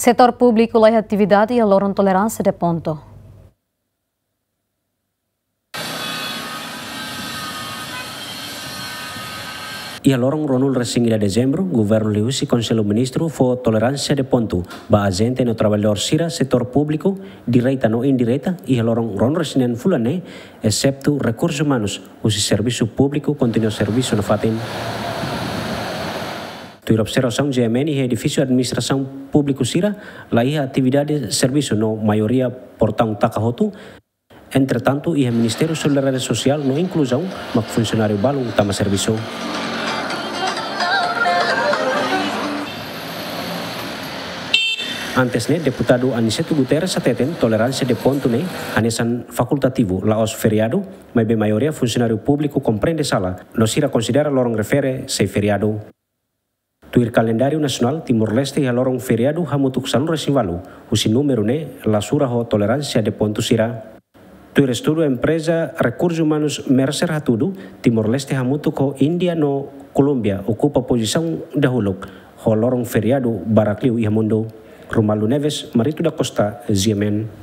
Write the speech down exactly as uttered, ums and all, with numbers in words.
Setór públiku laiha atividade iha loron toleránsia de pontu. Iha loron ruanulu-resin-ida Dezembru, Governu liuhusi Konsellu Ministru fó toleránsia de pontu ba ajente no traballadór sira setór públiku, direta no indireta, iha loron ruanulu-resin-neen fulan ne'e, eseptu rekursus umanus husi servisu públiku kontinua servisu nafatin. Tuir observasaun G M N iha edifísiu administrasaun públiku sira, laiha atividade servisu no maioria portaun taka hotu. Entretantu, iha Ministériu Solidariedade Sosiál no Inkluzaun mak funsionáriu balun tama servisu. Antes ne'e, Deputadu Aniceto Guterres hateten toleránsia de pontu ne'e hanesan fakultativu, la'ós feriadu, maibé maioria funsionáriu públiku komprende sala, no sira konsidera loron refere sei feriadu. Tuir kalendáriu nasionál, Timor-Leste iha loron feriadu hamutuk sanulu-resin-ualu, husi númeru ne'e la sura ho toleránsia de pontu sira. Tuir estudu empreza rekursus umanus Mercer hatudu, Timor-Leste hamutuk ho Índia no Kolómbia okupa pozisaun dahuluk ho loron feriadu barak liu iha mundu. Romualdo Neves, Marito da Costa, G M N.